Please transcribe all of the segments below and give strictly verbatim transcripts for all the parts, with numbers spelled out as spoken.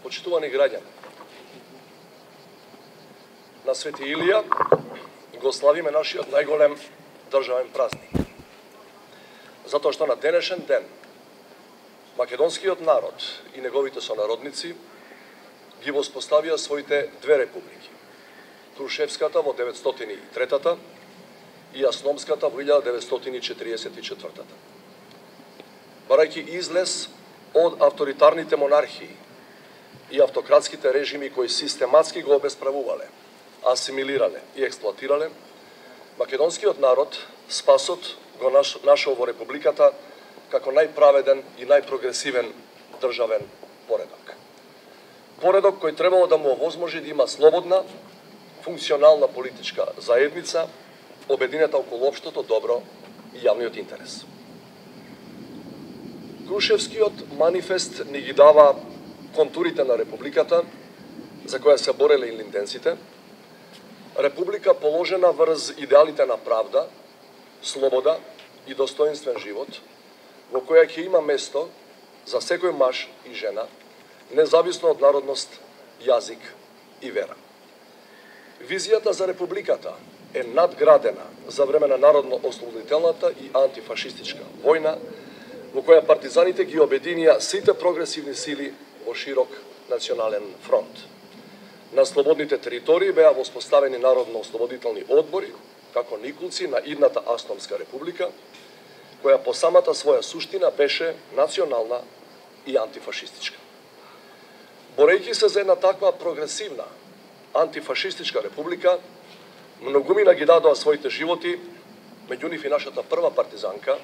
Почитувани граѓани, на Свети Илија го славиме нашиот најголем државен празник. Затоа што на денешен ден македонскиот народ и неговите сонародници ги воспоставија своите две републики. Крушевската во деветстотини и третата и Асономската во илјада деветстотини четириесет и четвртата. Барајќи излез од авторитарните монархии и автократските режими кои систематски го обесправувале, асимилирале и експлоатирале, македонскиот народ спасот го нашол во републиката како најправеден и најпрогресивен државен поредок. Поредок кој требало да му овозможи да има слободна, функционална политичка заедница, обединета околу општото добро и јавниот интерес. Крушевскиот манифест ни ги дава контурите на републиката за која се бореле илинденците, република положена врз идеалите на правда, слобода и достоинствен живот, во која ќе има место за секој маж и жена, независно од народност, јазик и вера. Визијата за републиката е надградена за време на народно-ослободителната и антифашистичка војна, во која партизаните ги обединија сите прогресивни сили во широк национален фронт. На слободните територии беа воспоставени народно-ослободителни одбори, како никулци на идната Асономска република, која по самата своја суштина беше национална и антифашистичка. Борејќи се за една таква прогресивна антифашистичка република, многумина ги дадоа своите животи, меѓу нив и нашата прва партизанка,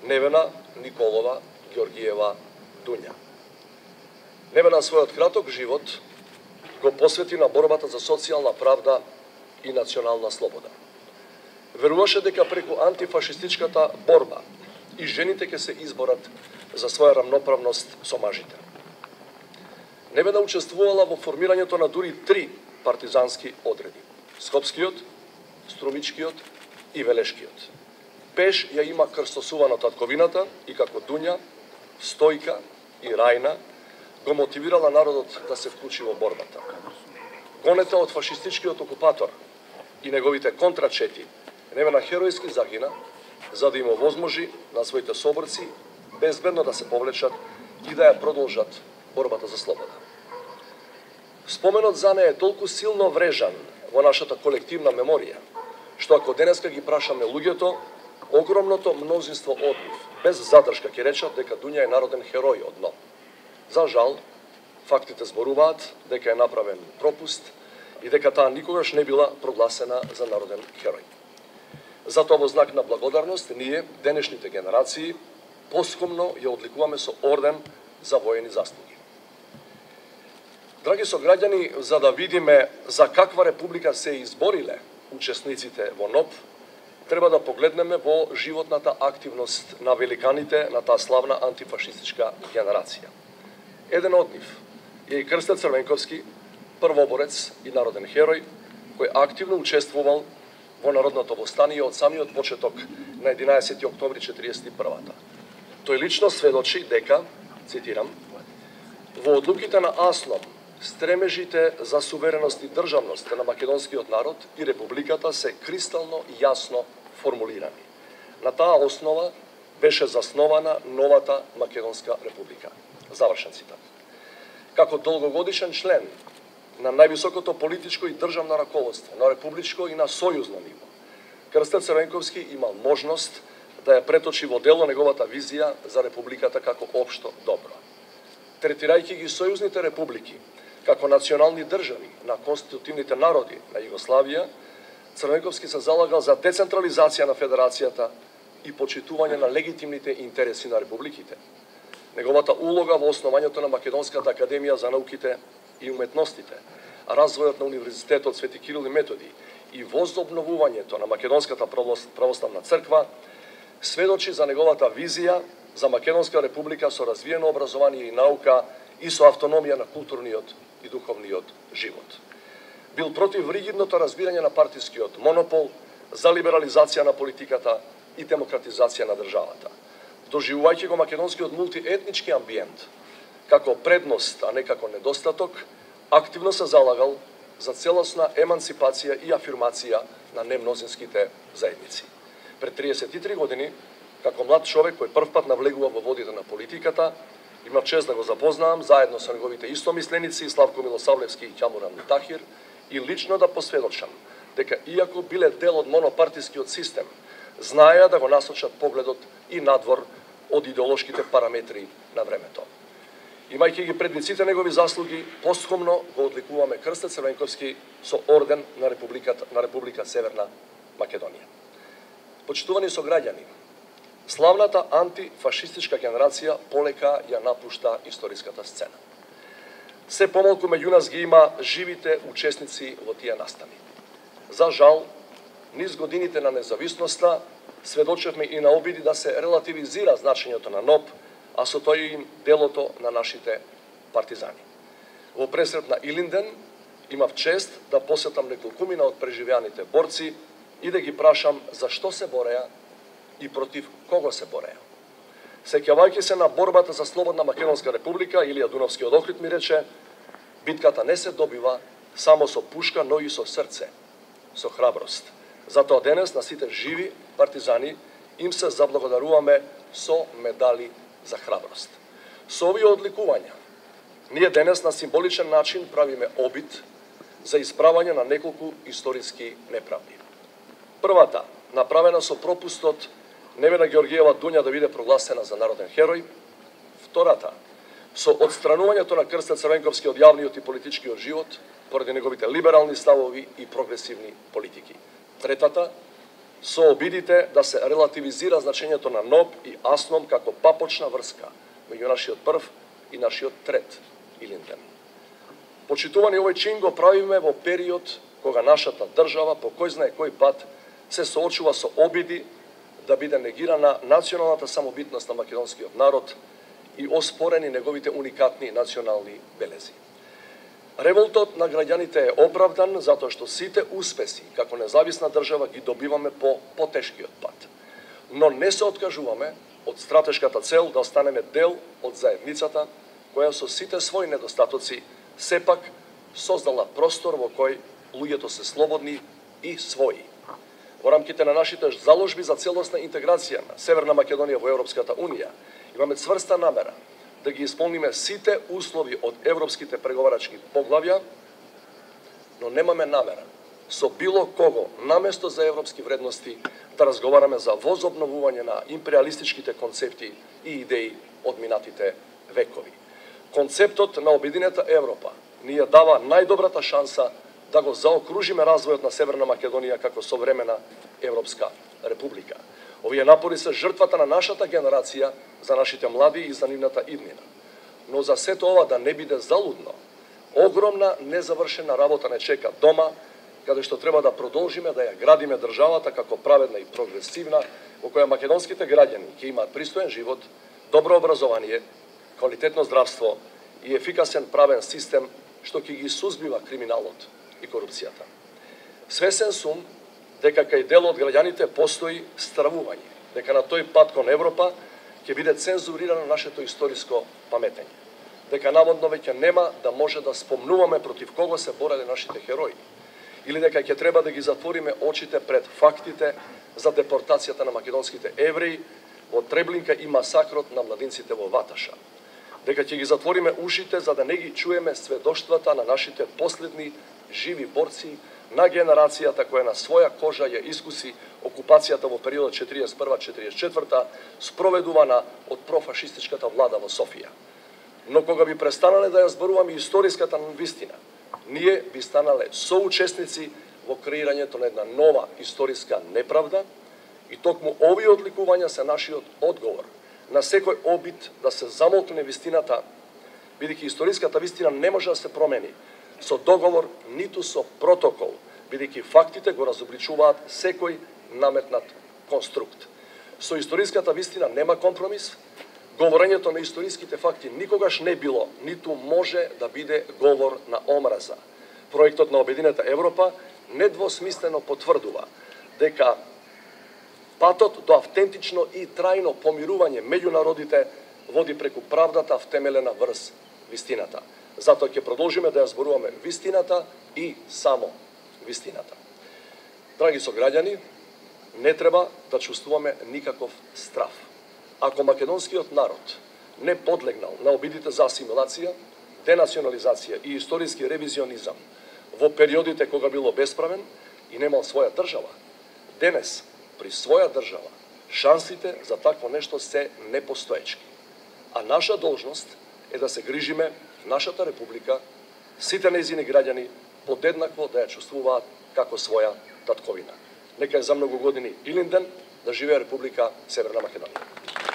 Невена Николова Георгиева Дуња. Невена својот краток живот го посвети на борбата за социјална правда и национална слобода. Веруваше дека преку антифашистичката борба и жените ќе се изборат за своја рамноправност со мажите. Невена учествувала во формирањето на дури три партизански одреди: Скопскиот, Струмичкиот и Велешкиот. Пеш ја има крстосувано татковината и како Дуња, Стојка и Рајна го мотивирала народот да се вклучи во борбата. Гонета од фашистичкиот окупатор и неговите контрачети, Невена херојски загина за да им овозможи на своите соборци безбедно да се повлечат и да ја продолжат борбата за слобода. Споменот за неја е толку силно врежан во нашата колективна меморија, што ако денеска ги прашаме луѓето, огромното мнозинство од нив, без задршка ќе речат дека Дуња е народен херој од дно. За жал, фактите зборуваат дека е направен пропуст и дека таа никогаш не била прогласена за народен херој. Затоа во знак на благодарност, ние, денешните генерации, поскомно ја одликуваме со орден за воени заслуги. Драги сограѓани, за да видиме за каква република се избориле учесниците во НОБ, треба да погледнеме во животната активност на великаните на таа славна антифашистичка генерација. Еден од нив е и Крстет Црвенковски, првоборец и народен херој, кој активно учествувал во народното востание од самиот почеток на единаесети октомври четириесет и првата. Тој лично сведочи дека, цитирам, во одлуките на Аслом, стремежите за сувереност и државност на македонскиот народ и републиката се кристално јасно формулирани. На таа основа беше заснована новата Македонска република. Завршен цитат. Како долгогодишен член на највисокото политичко и државно раководство на републичко и на сојузно ниво, Крстет Црвенковски имал можност да ја преточи во дело неговата визија за републиката како општо добро. Третирајќи ги сојузните републики како национални држави на конститутивните народи на Југославија, Црвенковски се залагал за децентрализација на федерацијата и почитување на легитимните интереси на републиките. Неговата улога во основањето на Македонската академија за науките и уметностите, развојот на Универзитетот Свети Кирил и Методи и возобновувањето на Македонската православна црква сведочи за неговата визија за Македонска република со развиено образование и наука и со автономија на културниот и духовниот живот. Бил против ригидното разбирање на партискиот монопол, за либерализација на политиката и демократизација на државата. Доживувајќи го македонскиот мултиетнички амбиент како предност, а не како недостаток, активно се залагал за целосна емансипација и афирмација на немнозинските заедници. Пред триесет и три години, како млад човек кој првпат навлегува во водите на политиката, имав чест да го запознавам заедно со неговите истомисленици Славко Милосавлевски и Ќамуран Мутахир и лично да посведочам дека иако биле дел од монопартискиот систем, знаеа да го насочат погледот и надвор од идеолошките параметри на времето. Имајќи ги предвид сите негови заслуги, постхумно го одликуваме Крстец Црвенковски со орден на Републиката на Република Северна Македонија. Почитувани сограѓани, славната антифашистичка генерација полека ја напушта историската сцена. Се помалку меѓу нас ги има живите учесници во тие настани. За жал, низ годините на независноста сведочевме и на обиди да се релативизира значењето на НОБ, а со тој им делото на нашите партизани. Во пресрет на Илинден имав чест да посетам неколкумина од преживеаните борци и да ги прашам зашто се бореа и против кого се бореа. Сеќавајќи се на борбата за слободна Македонска република, Илија Дуновскиот Охрид ми рече: битката не се добива само со пушка, но и со срце, со храброст. Затоа денес на сите живи партизани им се заблагодаруваме со медали за храброст. Со овие одликувања, ние денес на символичен начин правиме обид за исправање на неколку историски неправди. Првата, направена со пропустот Невена Георгиева Дуња да биде прогласена за народен херој. Втората, со отстранувањето на Крстец Црвенковски од јавниот и политичкиот живот, поради неговите либерални ставови и прогресивни политики. Третата, со обидите да се релативизира значењето на НОБ и АСНОМ како папочна врска меѓу нашиот прв и нашиот трет Илинден. Почитувани, овој чин го правиме во период кога нашата држава по кој знае кој пат се соочува со обиди да биде негирана националната самобитност на македонскиот народ и оспорени неговите уникатни национални белези. Револтот на граѓаните е оправдан затоа што сите успеси како независна држава ги добиваме по потешкиот пат. Но не се откажуваме од стратешката цел да останеме дел од заедницата која со сите своји недостатоци сепак создала простор во кој луѓето се слободни и своји. Во рамките на нашите заложби за целосна интеграција на Северна Македонија во Европската Унија имаме цврста намера да ги исполниме сите услови од европските преговарачки поглавја, но немаме намера со било кого наместо за европски вредности да разговараме за возобновување на империалистичките концепти и идеи од минатите векови. Концептот на Обединета Европа ни ја дава најдобрата шанса да го заокружиме развојот на Северна Македонија како современа Европска република. Овие напори се жртвата на нашата генерација за нашите млади и за нивната иднина. Но за сето ова да не биде залудно, огромна незавршена работа не чека дома, каде што треба да продолжиме да ја градиме државата како праведна и прогресивна, во која македонските граѓани ќе имаат пристоен живот, добро образование, квалитетно здравство и ефикасен правен систем што ќе ги сузбива криминалот и корупцијата. Свесен сум дека кај дел од граѓаните постои стравување, дека на тој пат кон Европа ќе биде цензурирано нашето историско паметење, дека наводно веќе нема да може да спомнуваме против кого се бореле нашите херои, или дека ќе треба да ги затвориме очите пред фактите за депортацијата на македонските евреи во Треблинка и масакрот на младинците во Ваташа, дека ќе ги затвориме ушите за да не ги чуеме сведоштвата на нашите последни живи борци, на генерацијата која на своја кожа ја искуси окупацијата во периодот четириесет и прва до четириесет и четврта, спроведувана од профашистичката влада во Софија. Но кога би престанале да ја зборуваме историската вистина, ние би станале соучесници во креирањето на една нова историска неправда и токму овие одликувања се нашиот одговор на секој обид да се замолкне вистината, бидејќи историската вистина не може да се промени со договор, ниту со протокол, бидејќи фактите го разобличуваат секој наметнат конструкт. Со историската вистина нема компромис, говорењето на историските факти никогаш не било, ниту може да биде говор на омраза. Проектот на Обединета Европа недвосмислено потврдува дека патот до автентично и трајно помирување меѓу народите води преку правдата втемелена врз вистината. Затоа ќе продолжиме да ја зборуваме вистината и само вистината. Драги сограѓани, не треба да чувствуваме никаков страф. Ако македонскиот народ не подлегнал на обидите за асимилација, денационализација и историски ревизионизам во периодите кога било бесправен и немал своја држава, денес, при своја држава, шансите за такво нешто се непостоечки. А наша должност е да се грижиме нашата република, сите нејзини граѓани подеднакво да ја чувствуваат како своја татковина. Нека е за многу години Илинден, да живее Република Северна Македонија.